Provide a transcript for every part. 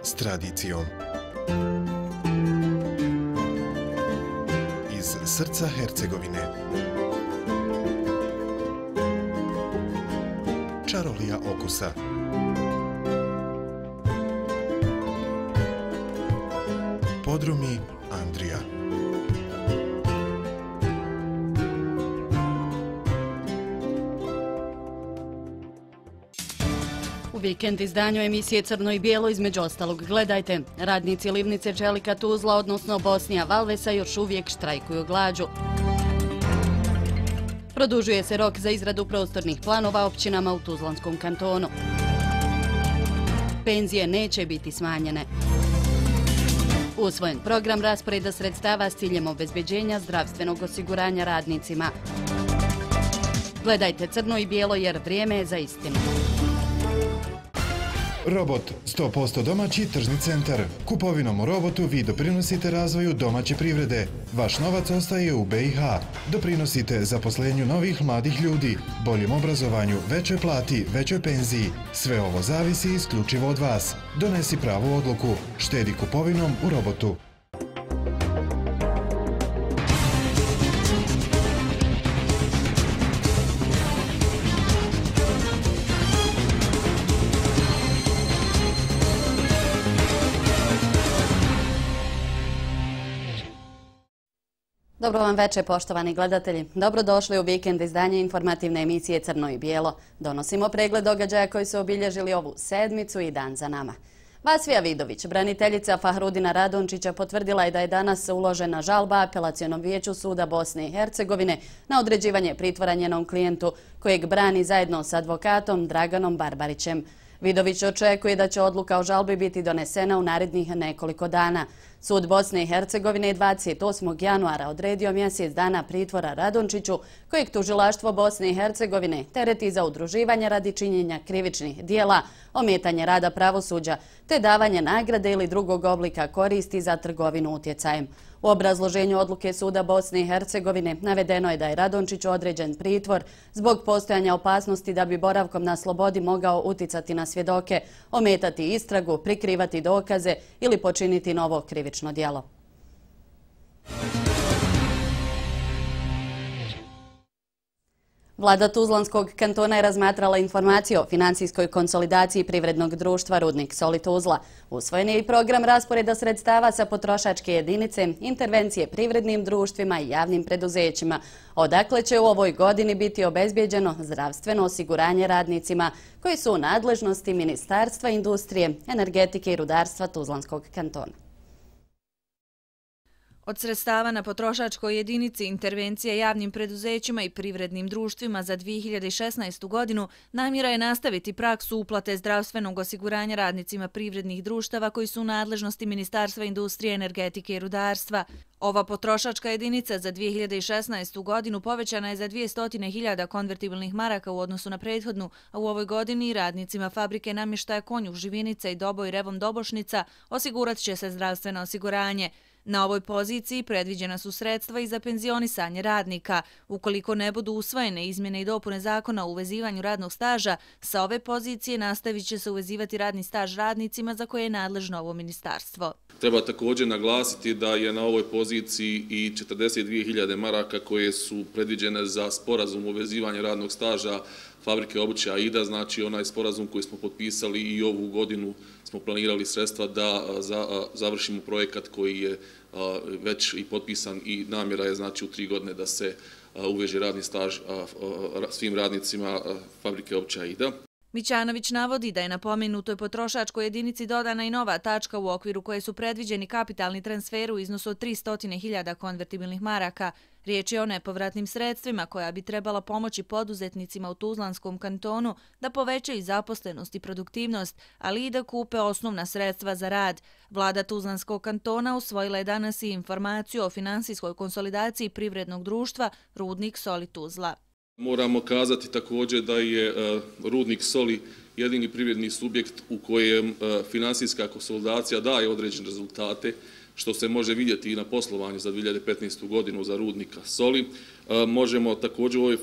s tradicijom. Iz srca Hercegovine. Čarolija okusa. Podrumi Andrija. U vikend izdanju emisije Crno i bijelo između ostalog gledajte. Radnici livnice čelika Tuzla, odnosno Bosnija Valvesa, još uvijek štrajkuju glađu. Produžuje se rok za izradu prostornih planova općinama u Tuzlanskom kantonu. Penzije neće biti smanjene. Usvojen program rasporeda sredstava s ciljem obezbeđenja zdravstvenog osiguranja radnicima. Gledajte Crno i bijelo jer vrijeme je za istinu. Robot, 100% domaći tržni centar. Kupovinom u Robotu vi doprinosite razvoju domaće privrede. Vaš novac ostaje u BiH. Doprinosite zaposlenju novih mladih ljudi, boljem obrazovanju, većoj plati, većoj penziji. Sve ovo zavisi isključivo od vas. Donesi pravu odluku. Štedi kupovinom u Robotu. Dobro vam večer, poštovani gledatelji. Dobrodošli u vikend izdanje informativne emisije Crno i bijelo. Donosimo pregled događaja koji su obilježili ovu sedmicu i dan za nama. Vasfija Vidović, braniteljica Fahrudina Radončića, potvrdila je da je danas uložena žalba Apelacionom vijeću suda Bosne i Hercegovine na određivanje pritvora njenom klijentu kojeg brani zajedno s advokatom Draganom Barbarićem. Vidović očekuje da će odluka o žalbi biti donesena u narednih nekoliko dana. Sud Bosne i Hercegovine 28. januara odredio mjesec dana pritvora Radončiću, kojeg tužilaštvo Bosne i Hercegovine tereti za udruživanje radi činjenja krivičnih dijela, ometanje rada pravosuđa, te davanje nagrade ili drugog oblika koristi za trgovinu utjecajem. U obrazloženju odluke suda Bosne i Hercegovine navedeno je da je Radončiću određen pritvor zbog postojanja opasnosti da bi boravkom na slobodi mogao uticati na svjedoke, ometati istragu, prikrivati dokaze ili počiniti novo krivično djelo. Vlada Tuzlanskog kantona je razmatrala informaciju o financijskoj konsolidaciji privrednog društva Rudnik Soli Tuzla. Usvojen je i program rasporeda sredstava sa potrošačke jedinice, intervencije privrednim društvima i javnim preduzećima, odakle će u ovoj godini biti obezbijeđeno zdravstveno osiguranje radnicima koji su u nadležnosti Ministarstva industrije, energetike i rudarstva Tuzlanskog kantona. Od sredstava na potrošačkoj jedinici intervencije javnim preduzećima i privrednim društvima za 2016. godinu namjera je nastaviti praksu uplate zdravstvenog osiguranja radnicima privrednih društava koji su u nadležnosti Ministarstva industrije, energetike i rudarstva. Ova potrošačka jedinica za 2016. godinu povećana je za 200.000 konvertibilnih maraka u odnosu na prethodnu, a u ovoj godini radnicima fabrike namještaja Konjuh Živinica i Doboj Revom Dobošnica osigurat će se zdravstveno osiguranje. Na ovoj poziciji predviđena su sredstva i za penzionisanje radnika. Ukoliko ne budu usvojene izmjene i dopune zakona o uvezivanju radnog staža, sa ove pozicije nastavit će se uvezivati radni staž radnicima za koje je nadležno ovo ministarstvo. Treba također naglasiti da je na ovoj poziciji i 42.000 maraka koje su predviđene za sporazum o uvezivanju radnog staža fabrike obuće AIDA, znači onaj sporazum koji smo potpisali i ovu godinu smo planirali sredstva da završimo projekat koji je već i potpisan i namjera je znači u 3 godine da se uveže radni staž svim radnicima fabrike obuće AIDA. Mićanović navodi da je na pomenutoj potrošačkoj jedinici dodana i nova tačka u okviru koje su predviđeni kapitalni transfer u iznosu od 300.000 konvertibilnih maraka. Riječ je o nepovratnim sredstvima koja bi trebala pomoći poduzetnicima u Tuzlanskom kantonu da povećaju zaposlenost i produktivnost, ali i da kupe osnovna sredstva za rad. Vlada Tuzlanskog kantona usvojila je danas i informaciju o finansijskoj konsolidaciji privrednog društva Rudnik Soli Tuzla. Moramo kazati također da je Rudnik Soli jedini privredni subjekt u kojem finansijska konsolidacija daje određene rezultate, što se može vidjeti i na poslovanju za 2015. godinu za Rudnika Soli. Možemo također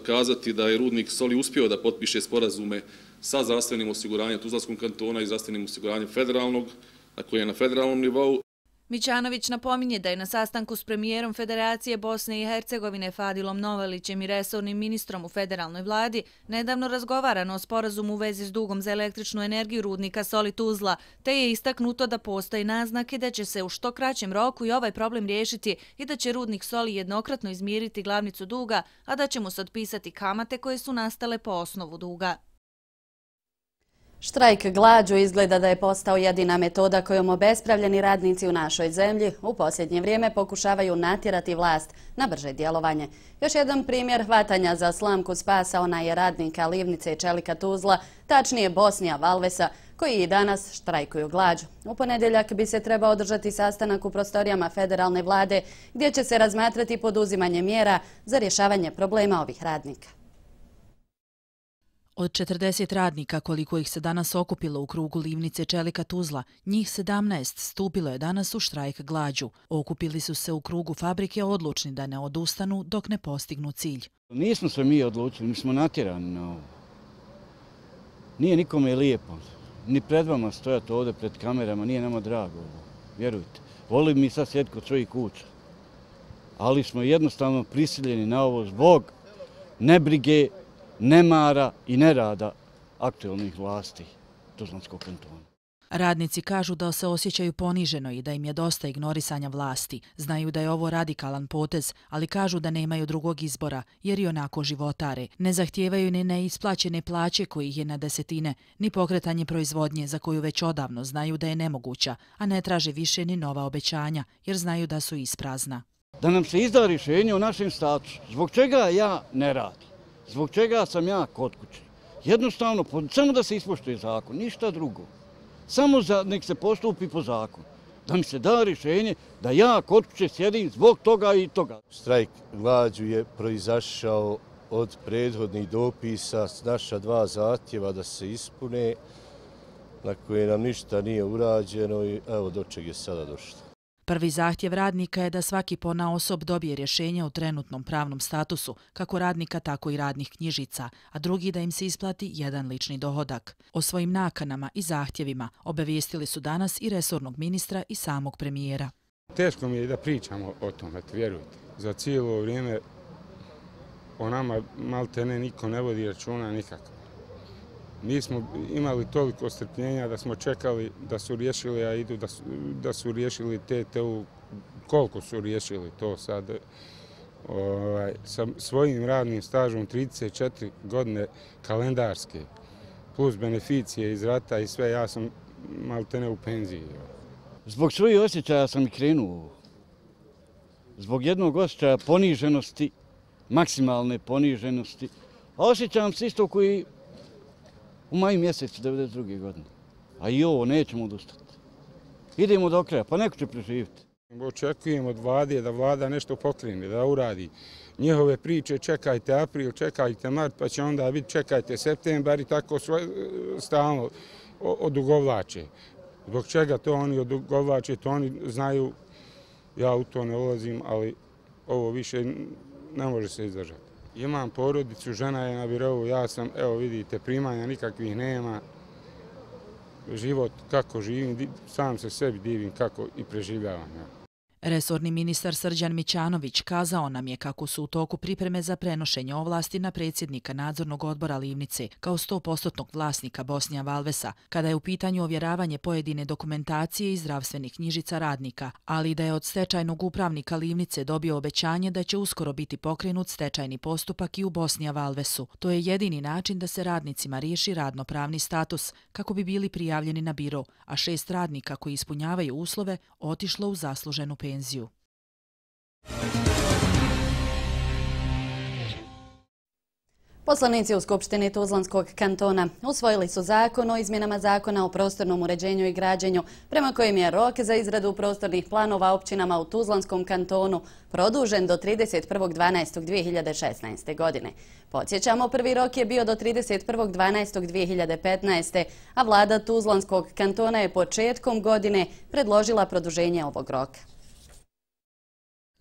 kazati da je Rudnik Soli uspio da potpiše sporazume sa zdravstvenim osiguranjem Tuzlanskog kantona i zdravstvenim osiguranjem federalnog koji je na federalnom nivou. Mićanović napominje da je na sastanku s premijerom Federacije Bosne i Hercegovine Fadilom Novalićem i resornim ministrom u federalnoj vladi nedavno razgovarano o sporazumu u vezi s dugom za električnu energiju rudnika Soli Tuzla, te je istaknuto da postoji naznake da će se u što kraćem roku i ovaj problem riješiti i da će rudnik Soli jednokratno izmiriti glavnicu duga, a da će mu se otpisati kamate koje su nastale po osnovu duga. Štrajk glađu izgleda da je postao jedina metoda kojom obespravljeni radnici u našoj zemlji u posljednje vrijeme pokušavaju natjerati vlast na brže djelovanje. Još jedan primjer hvatanja za slamku spasa onaj je radnika Livnice i čelika Tuzla, tačnije Bosnija Valvesa, koji i danas štrajkuju glađu. U ponedjeljak bi se trebao održati sastanak u prostorijama federalne vlade gdje će se razmatrati poduzimanje mjera za rješavanje problema ovih radnika. Od 40 radnika koliko ih se danas okupilo u krugu Livnice čelika Tuzla, njih 17 stupilo je danas u štrajk glađu. Okupili su se u krugu fabrike odlučni da ne odustanu dok ne postignu cilj. Nismo se mi odlučili, mi smo natjerani na ovo. Nije nikome lijepo. Ni pred vama stojati ovdje pred kamerama, nije nama drago ovo. Vjerujte. Volimo mi sad sjediti kod svojih kuća. Ali smo jednostavno prisiljeni na ovo zbog nebrige, nemara i nerada aktualnih vlasti Tuzlanskog kantona. Radnici kažu da se osjećaju poniženo i da im je dosta ignorisanja vlasti. Znaju da je ovo radikalan potez, ali kažu da nemaju drugog izbora, jer i onako životare. Ne zahtijevaju ni neisplaćene plaće kojih je na desetine, ni pokretanje proizvodnje za koju već odavno znaju da je nemoguća, a ne traže više ni nova obećanja, jer znaju da su isprazna. Da nam se izda rješenje o našem statusu. Zbog čega ja ne radim? Zbog čega sam ja kod kuće? Jednostavno, samo da se ispoštuje zakon, ništa drugo. Samo nek se postupi po zakonu. Da mi se da rješenje da ja kod kuće sjedim zbog toga i toga. Štrajk glađu je proizašao od prethodnih dopisa s naša 2 zahtjeva da se ispune, na koje nam ništa nije urađeno i evo do čeg je sada došlo. Prvi zahtjev radnika je da svaki ponaosob dobije rješenje o trenutnom pravnom statusu, kako radnika tako i radnih knjižica, a drugi da im se isplati jedan lični dohodak. O svojim nakanama i zahtjevima obavijestili su danas i resornog ministra i samog premijera. Teško mi je da pričamo o tome, vjerujte. Za cijelo vrijeme o nama maltene niko ne vodi računa nikako. Mi smo imali toliko strpljenja da smo čekali da su riješili, a idu da su riješili TTU, koliko su riješili to sad. Sa svojim radnim stažom 34 godine kalendarske, plus beneficije iz rata i sve, ja sam maltene u penziji. Zbog svojih osjećaja sam i krenuo. Zbog jednog osjećaja poniženosti, maksimalne poniženosti, a osjećam se isto koji u maju mjesecu 1992. godine. A i ovo nećemo odustati. Idemo do kraja, pa neko će preživjeti. Očekujem od vlade da vlada nešto pokrene, da uradi. Njihove priče čekajte april, čekajte mart, pa će onda biti čekajte septembar i tako stalno odugovlače. Zbog čega to oni odugovlače, to oni znaju, ja u to ne ulazim, ali ovo više ne može se izdržati. Imam porodicu, žena je na birovu, ja sam, evo vidite, primanja nikakvih nema. Život kako živim, sam se sebi divim kako i preživljavam. Resorni ministar Srđan Mićanović kazao nam je kako su u toku pripreme za prenošenje ovlasti na predsjednika nadzornog odbora Livnice kao 100% vlasnika Bosnija Valvesa, kada je u pitanju ovjeravanje pojedine dokumentacije i zdravstvenih knjižica radnika, ali i da je od stečajnog upravnika Livnice dobio obećanje da će uskoro biti pokrenut stečajni postupak i u Bosnija Valvesu. To je jedini način da se radnicima riješi radnopravni status kako bi bili prijavljeni na biro, a 6 radnika koji ispunjavaju uslove otišlo u zasluženu penziju. Poslanici u Skupštini Tuzlanskog kantona usvojili su zakon o izmjenama zakona o prostornom uređenju i građenju, prema kojem je rok za izradu prostornih planova općinama u Tuzlanskom kantonu produžen do 31.12.2016. godine. Podsjećamo, prvi rok je bio do 31.12.2015. a vlada Tuzlanskog kantona je početkom godine predložila produženje ovog roka.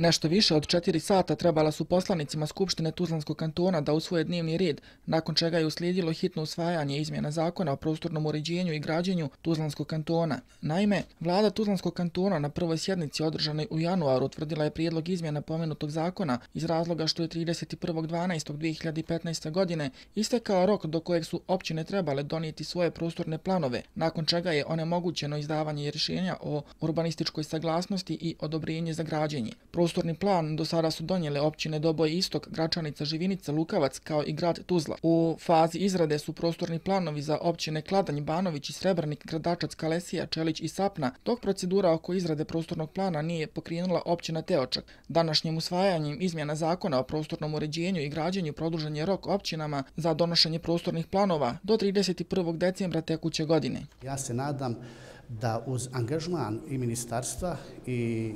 Nešto više od 4 sata trebala su poslanicima Skupštine Tuzlanskog kantona da usvoje dnevni red, nakon čega je uslijedilo hitno usvajanje izmjena zakona o prostornom uređenju i građenju Tuzlanskog kantona. Naime, vlada Tuzlanskog kantona na prvoj sjednici održanoj u januaru utvrdila je prijedlog izmjena pomenutog zakona iz razloga što je 31.12.2015. godine istekao rok do kojeg su općine trebale donijeti svoje prostorne planove, nakon čega je onemogućeno izdavanje rješenja o urbanističkoj saglasnosti i odobrenje za građenje. Prostorni plan do sada su donijele općine Doboj Istok, Gračanica, Živinica, Lukavac kao i grad Tuzla. U fazi izrade su prostorni planovi za općine Kladanj, Banović i Srebrnik, Gradačac, Kalesija, Čelić i Sapna, dok procedura oko izrade prostornog plana nije pokrenula općina Teočak. Današnjim usvajanjem izmjena zakona o prostornom uređenju i građenju produžen je rok općinama za donošenje prostornih planova do 31. decembra tekuće godine. Ja se nadam da uz angažman i ministarstva i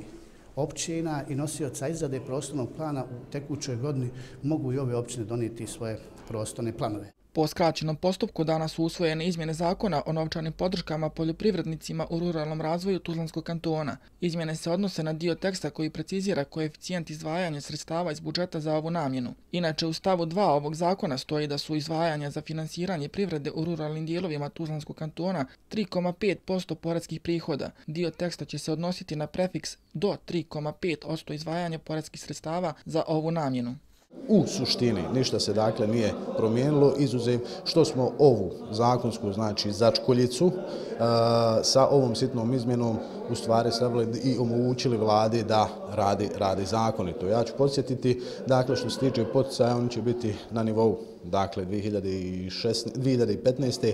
općina i nosioca izrade prostornog plana u tekućoj godini mogu i ove općine donijeti svoje prostorne planove. Po skraćenom postupku danas su usvojene izmjene zakona o novčanim podrškama poljoprivrednicima u ruralnom razvoju Tuzlanskog kantona. Izmjene se odnose na dio teksta koji precizira koeficijent izdvajanja sredstava iz budžeta za ovu namjenu. Inače, u stavu 2 ovog zakona stoji da su izdvajanja za finansiranje privrede u ruralnim dijelovima Tuzlanskog kantona 3,5% poredskih prihoda. Dio teksta će se odnositi na prefiks do 3,5% izdvajanja poredskih sredstava za ovu namjenu. U suštini ništa se dakle nije promijenilo, izuzev što smo ovu zakonsku, znači začkoljicu, sa ovom sitnom izmjenom u stvari stavili i omogućili vladi da radi zakonito. Ja ću podsjetiti, dakle, što se tiče poticaja, oni će biti na nivou, dakle, 2015.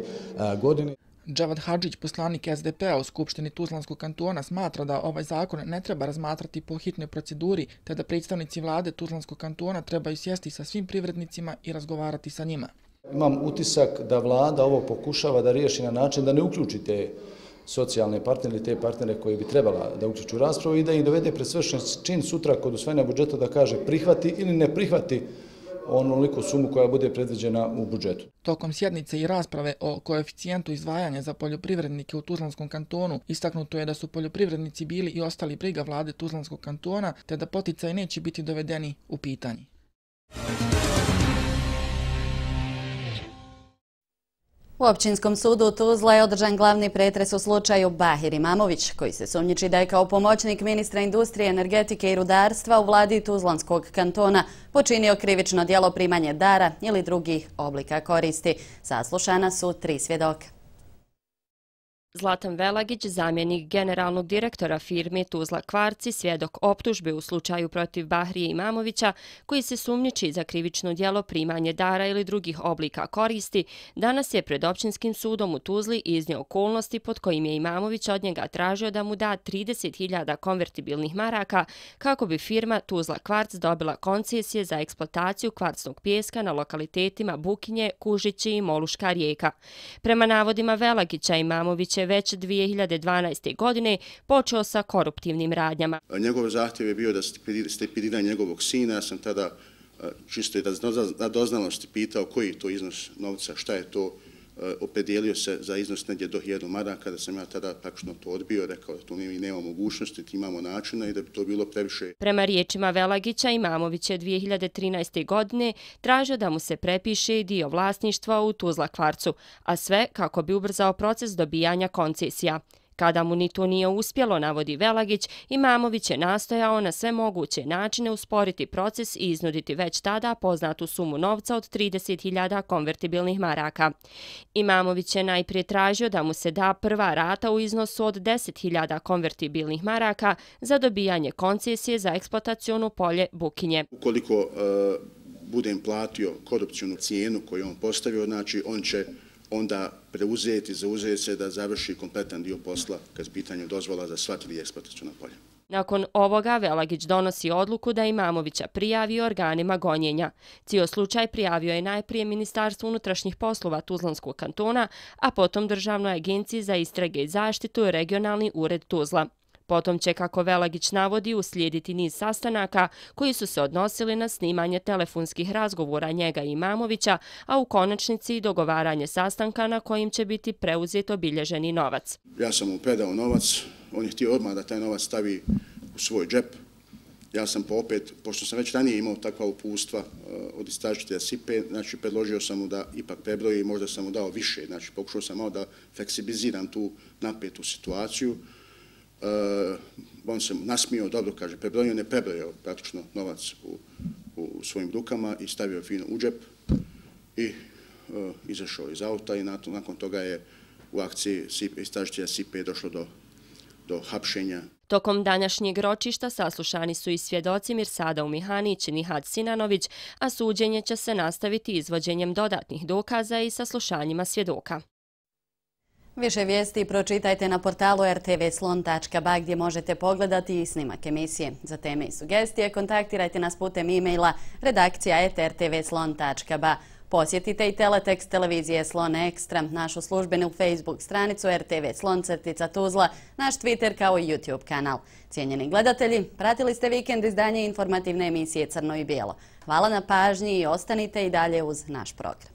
godine. Dževad Hadžić, poslanik SDP-a u Skupštini Tuzlanskog kantona, smatra da ovaj zakon ne treba razmatrati po hitnoj proceduri, te da predstavnici vlade Tuzlanskog kantona trebaju sjesti sa svim privrednicima i razgovarati sa njima. Imam utisak da vlada ovo pokušava da riješi na način da ne uključi te socijalne partnere ili te partnere koji bi trebala da uključu raspravu i da ih dovede pred svršen čin sutra kod usvajanja budžeta da kaže prihvati ili ne prihvati onoliku sumu koja bude predviđena u budžetu. Tokom sjednice i rasprave o koeficijentu izdvajanja za poljoprivrednike u Tuzlanskom kantonu istaknuto je da su poljoprivrednici bili i ostali briga vlade Tuzlanskog kantona, te da poticaji neće biti dovedeni u pitanje. U Općinskom sudu u Tuzla je održan glavni pretres u slučaju Bahir Imamović, koji se sumnjiči da je kao pomoćnik ministra industrije, energetike i rudarstva u vladi Tuzlanskog kantona počinio krivično djelo primanje dara ili drugih oblika koristi. Saslušana su 3 svjedoka. Zlatan Velagić, zamjenik generalnog direktora firme Tuzla Kvarci, svjedok optužbe u slučaju protiv Bahrije Imamovića, koji se sumnjiči za krivično djelo primanje dara ili drugih oblika koristi, danas je pred Općinskim sudom u Tuzli iznio okolnosti pod kojim je Imamović od njega tražio da mu da 30.000 konvertibilnih maraka kako bi firma Tuzla Kvarc dobila koncesije za eksploataciju kvarcnog pijeska na lokalitetima Bukinje, Kužići i Moluška rijeka. Prema navodima Velagića, Imamović je već 2012. godine počeo sa koruptivnim radnjama. Njegov zahtjev je bio da stipendira njegovog sina. Ja sam tada čisto i da doznalosti pitao koji je to iznos novca, šta je to, opredjelio se za iznos negdje do 1000 maraka, da sam ja tada praktično to odbio, rekao da tu nema mogućnosti, imamo načina i da bi to bilo previše. Prema riječima Velagića, Imamović je 2013. godine tražio da mu se prepiše dio vlasništva u Tuzla Kvarcu, a sve kako bi ubrzao proces dobijanja koncesija. Kada mu ni to nije uspjelo, navodi Velagić, Imamović je nastojao na sve moguće načine usporiti proces i iznuditi već tada poznatu sumu novca od 30.000 konvertibilnih maraka. Imamović je najprije tražio da mu se da prva rata u iznosu od 10.000 konvertibilnih maraka za dobijanje koncesije za eksploatacionu polje Bukinje. Ukoliko budem platio korupcijnu cijenu koju on postavio, znači on će onda zauzeti se da završi kompletan dio posla kad je pitanje dozvola za sva 3 eksploataciona polja. Nakon ovoga Velagić donosi odluku da Imamovića prijavi organima gonjenja. Cijel slučaj prijavio je najprije Ministarstvo unutrašnjih poslova Tuzlanskog kantona, a potom Državnoj agenciji za istrage i zaštitu i regionalni ured Tuzla. Potom će, kako Velagić navodi, uslijediti niz sastanaka koji su se odnosili na snimanje telefonskih razgovora njega i Imamovića, a u konačnici i dogovaranje sastanka na kojim će biti preuzet obilježeni novac. Ja sam mu predao novac, on je htio odmah da taj novac stavi u svoj džep Ja sam opet, pošto sam već ranije imao takva upustva od istražitelja SIPE, znači predložio sam mu da ipak prebroji i možda sam mu dao više, znači pokušao sam malo da fleksibiliziram tu napetu situaciju. On se nasmio, dobro kaže, prebrojio, ne prebrojio praktično novac u svojim rukama i stavio fino u džep i izašao iz auta i nakon toga je u akciji istražitelja SIPE došlo do hapšenja. Tokom današnjeg ročišta saslušani su i svjedoci Mirsada Umihanić i Nihad Sinanović, a suđenje će se nastaviti izvođenjem dodatnih dokaza i saslušanjima svjedoka. Više vijesti pročitajte na portalu rtvslon.ba gdje možete pogledati i snimak emisije. Za teme i sugestije kontaktirajte nas putem e-maila redakcija@rtvslon.ba. Posjetite i teletekst televizije Slon Ekstra, našu službenu Facebook stranicu RTV Slon_Tuzla, naš Twitter kao i YouTube kanal. Cijenjeni gledatelji, pratili ste vikend izdanje informativne emisije Crno i bijelo. Hvala na pažnji i ostanite i dalje uz naš program.